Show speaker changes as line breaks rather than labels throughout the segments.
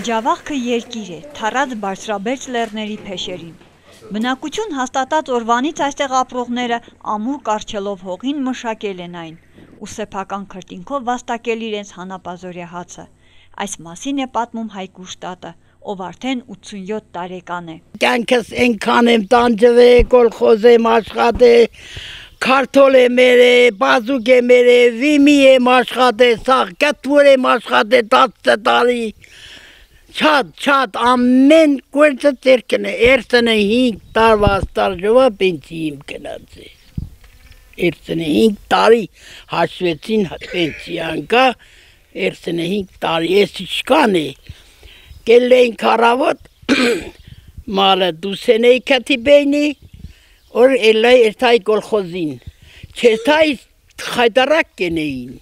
Ջավախքը երկիր է, թառած բարձրաբերձ լեռների փեշերին։ Բնակություն հաստատած օրվանից այստեղ ապրողները ամուր կառչելով հողին մշակել են այն ու սեփական քրտինքով վաստակել իրենց հանապազօրյա հացը։ Այս մասին է պատմում Հայկ Ուշտատը, ով արդեն 87 տարեկան է։
Կյանքս այնքան եմ տանջվել, կոլխոզ եմ աշխատել, քարտոլ եմ երել, բազուկ եմ երել, վիմի եմ աշխատել, սաղ կտվոր եմ աշխատել 10 տարի։ Շատ ամեն գործը ձերքն է, 35 տարվա ստաժովա պենսիի եմ գնաց է։ 35 տարի հաշվեցին պենսիան կա, 35 տարի, ես իշխան է, կել էին քարավոտ, մալը դուսեն էի կատիբեյնի, որ էլայ էրթայ կոլխոզին, չերթայ խայդարակ կենեին,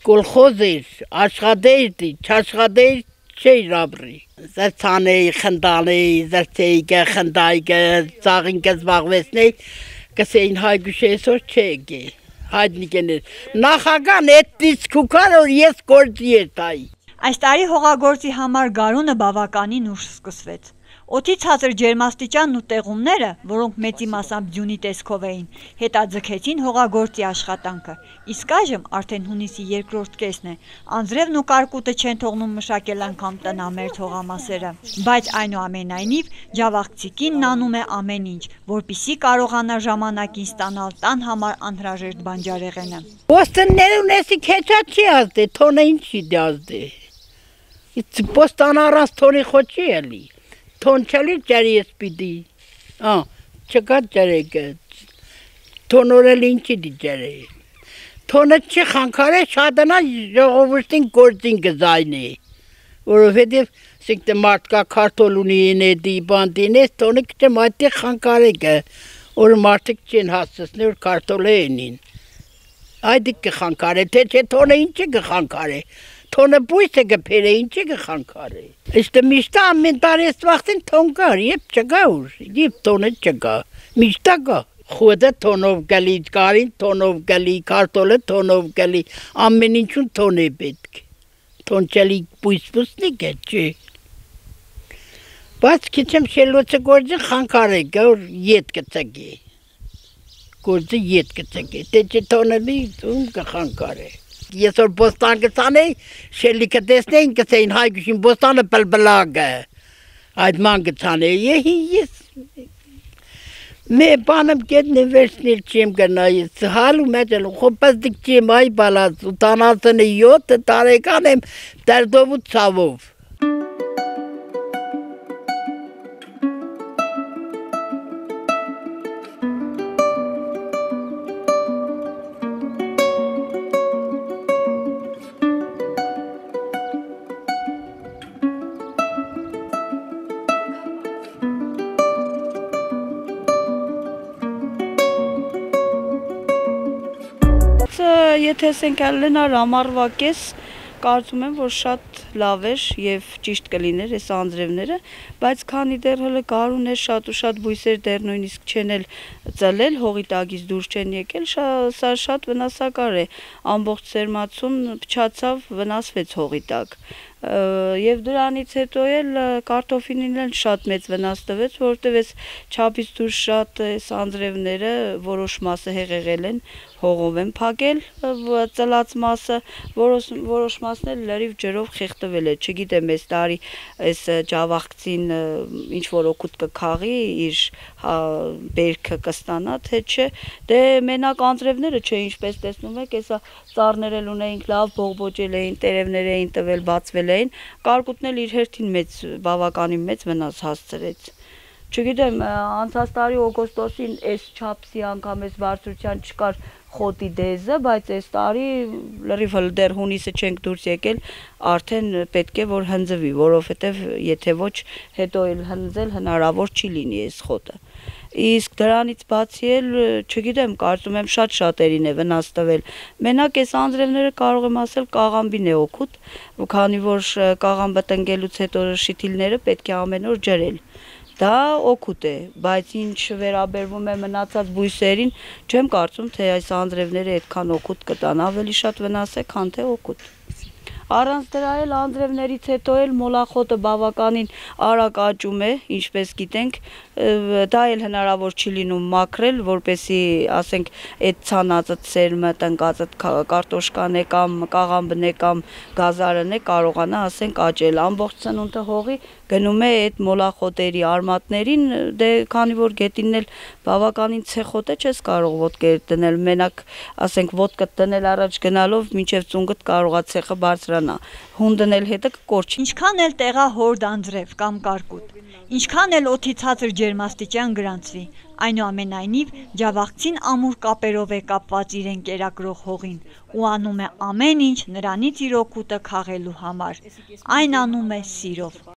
կոլխոզ էր, աշխատեիր, չաշխատեիր, չէր ապրի, զրցանեի, խնդանեի, զրցեիքը, խնդայքը, ծաղինքը զբաղվեցնեի, կսեին Հայգուշ այսօր չէ գե, հայտնիկ էներ, նախագան էտից կուքար, որ ես գործի երթայի։
Այս տարի հողագործի համար գարունը բավականին ուշ սկսվեց։ Օդի ցածր ջերմաստիճանն ու տեղումները, որոնք մեծի մասամբ ձյունի տեսքով էին, հետաձգեցին հողագործի աշխատանքը, իսկ այժմ արդեն հունիսի երկրորդ կեսն է, անձրևն ու կարկուտը չեն թողնում մշակել անգամ տնամերձ հողամասերը, բայց այնուամենայնիվ ջավախցի կինն անում է ամեն ինչ, որպեսզի կարողանա ժամանակին ստանալ տան համար անհրաժեշտ բանջարեղենը։
Պոստները ունեսի քեչա չի ազդե, թոնը ինչի դազդե։ Պոստան առանց թոնի խոչի էլի։ Թոն չելի ջարի ես պիդի, չկա ջարեկը, թոնորել ինչի դի ջարե, թոնը չի խանքար է շադանա ժողովուշտին գործին գզայն է, որովհետև սիկտը մարդկա քարտոլ ունի ենեդի բանդին ես, թոնը կչեմ այդտեղ խանքար է գը, որ մարդիկ չեն հասցսնի, որ քարտոլ է ենին, այդիկ կխանքար է, թե չէ թոնը ինչի կխանքար է, թոնը բույս է գպեր է, ինչի կխանքար է։ Իստը միշտա ամեն տարի ես վաղթին թոն կար, եբ չգա ուր, եբ թոնը չգա, միշտա գա։ Խուդը թոնով գալի, կարին թոնով գալի, քարտոլը թոնով գալի, ամեն ինչուն թոն է պետք։ Թոն չելի բույս-բուսնի գե, չէ։ Բայց քիչեմ շելոցը գործին խանքար է գա, որ ետ կծգի։ Գործը ետ կծգի, թե չէ թոնը լի, ում կխանքար է։ Ես որ բոստան գծանեի, շելիքը տեսնեին գծեին Հայգուշին բոստանը պլպլագը, այդ ման գծանեի, ես մե բանım գետնի վերցնիլ չեմ գնայից, հալու մեջ էլ խոպազդիկ չեմ այ բալած, ուտանացն է 7 տարեկան եմ դարդով ու ծավով։
Եթե ասենք լենար ամառվա կես, կարծում եմ, որ շատ լավ էր եւ ճիշտ կլիներ այս անձրևները, բայց քանի դեռ հələ գարուն է, շատ ու շատ բույսեր դեռ նույնիսկ չեն էլ ծլել, հողի տակից դուրս չեն եկել, սա շատ վնասակար է, ամբողջ սերմացուն փչացավ, վնասվեց հողի տակ։ Եվ դրանից հետո էլ կարտոֆիլին էլ շատ մեծ վնաս տվեց, որովհետև այս չափից դուրս շատ այս անձրևները որոշ մասը հեղեղել են, հողով են փակել ծլած մասը, որոշ մասն էլ լրիվ ջրով խեղդվել է, չգիտեմ այս տարի այս ջավախցին ինչ որ օգուտ կքաղի, իր բերքը կստանա, թե չէ, դե մենակ անձրևները չէ, ինչպես տեսնում եք, հեսա ծառներ էլ ունեինք լավ բողբոջել էին, տերևներ էին տվել, բացվել էին, կարկուտն էլ իր հերթին բավականին մեծ վնաս հասցրեց։ Չգիտեմ, անցած տարի օգոստոսին այս չափսի անգամ այս բարձրության չկար խոտի դեզը, բայց այս տարի լրիվ դեռ հունիսը չենք դուրս եկել, արդեն պետք է որ հնձվի, որովհետև եթե ոչ հետո էլ հնձել հնարավոր չի լինի այս խոտը։ Իսկ դրանից բացի էլ, չգիտեմ, կարծում եմ շատ շատերին է վնաս տվել։ Մենակ այս անձրևները կարող եմ ասել կաղամբին է օգուտ, քանի որ կաղամբը տնկելուց հետո շիթիլները պետք է ամեն օր ջրել։ Դա օգուտ է, բայց ինչ վերաբերվում է մնացած բույսերին, չեմ կարծում, թե այս անձրևները այդքան օգուտ կտան, ավելի շատ վնաս է, քան թե օգուտ։ Առանց դրա էլ անձրևներից հետո էլ մոլախոտը բավականին արագ աճում է, ինչպես գիտենք, դա էլ հնարավոր չի լինում մաքրել, որպեսզի, ասենք, այդ ցանածը սերմը տնկածը կարտոշկան է կամ կաղամբն է կամ գազարն է կարողանա, ասենք, աճել։ Ամբողջ ծնունդը հողի գնում է այդ մոլախոտերի արմատներին, դե քանի որ գետինն էլ բավականին ցեխոտ է, չես կարող ոտքեր դնել, մենակ, ասենք, ոտքդ դնել առաջ գնալով մինչև ծունգդ կարողա ցեխը բարձրանա։ Հուն դնել հետը կկորչի։
Ինչքան էլ տեղահորդ անձրև կամ կարկուտ, ինչքան էլ օդի ցածր ջերմաստիճան գրանցվի, այնուամենայնիվ Ջավախցին ամուր կապերով է կապված իրեն կերակրող հողին ու անում է ամեն ինչ նրանից իր օգուտը քաղելու համար։ Այն անում է սիրով։